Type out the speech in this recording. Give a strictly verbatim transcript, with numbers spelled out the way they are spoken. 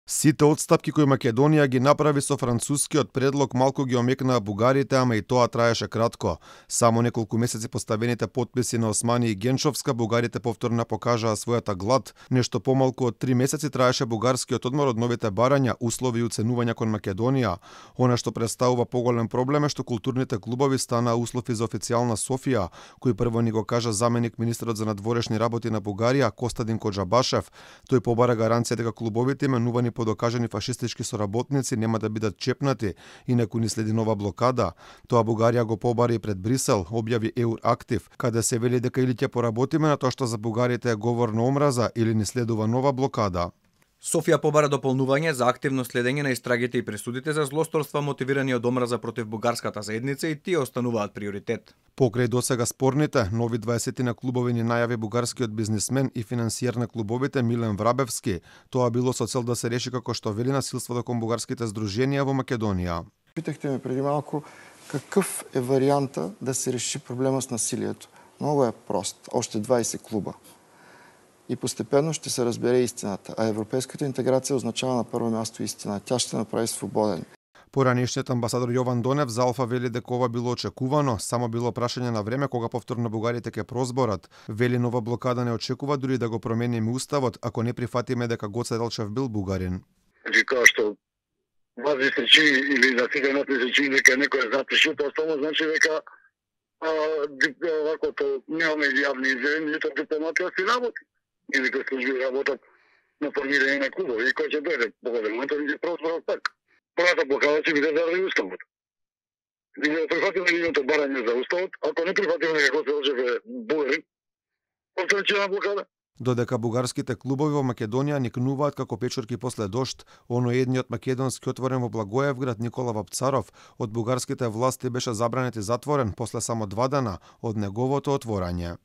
Сите отстапки кои Македонија ги направи со францускиот предлог малку ги омекнаа бугарите, ама и тоа траеше кратко. Само неколку месеци поставените потписи на Османи и Генчовска, бугарите повторно покажаа својата глад. Нешто помалку од три месеци траеше бугарскиот одмор од новите барања, услови и уценувања кон Македонија. Она што представува поголем проблем е што културните клубови станаа услов и за официјална Софија, кој прво ни го кажа заменик министерот за надворешни работи на Бугарија Костадин Коџабашев. Тој побара гаранција дека клубовите именувани по докажани фашистички соработници нема да бидат чепнати, инаку ни следи нова блокада. Тоа Бугарија го побари и пред Брисел, објави Еурактив, каде се вели дека или ќе поработиме на тоа што за бугарите е говор на омраза, или ни следува нова блокада. Софија побара дополнување за активно следење на истрагите и пресудите за злосторства мотивирани од омраза против бугарската заедница и тие остануваат приоритет. Покрај досега спорните, нови дваесет на клубови ни најави бугарскиот бизнисмен и финансиер на клубовите Милен Врабевски. Тоа било со цел да се реши како што вели насилството кон бугарските здруженија во Македонија. Питахте ме преди малку какъв е варианта да се реши проблема с насилието. Много е прост. Още дваесет клуба. И постепенно ще се разбере истината. А европейската интеграция означава на първо място истина. Тя ще направи свободен. Поранешниот амбасадор Јован Донев за Алфа вели дека ова било очекувано, само било прашање на време кога повторно бугарите ќе прозборат. Вели нова блокада не очекува дури да го промениме уставот, ако не прифатиме дека Гоце Делчев бил бугарин. Значи као што вас ви се чини или на сите нас се чини дека некој е запишил, тоа само значи дека овакото немаме јавни изјави, нито дипломатија си работи. Или кој служби работат на формирање на клубови и кој ќе дојде погоден момент да ги прозборат пак. Првата блокада ќе биде заради уставот. И не прифатиме нивното барање за уставот, ако не прифатиме дека Гоце Делчев е бугарин, повторечена блокада. Додека бугарските клубови во Македонија никнуваат како печурки после дожд, оно едниот македонски отворен во Благоевград Никола Вапцаров од бугарските власти беше забранет и затворен после само два дена од неговото отворање.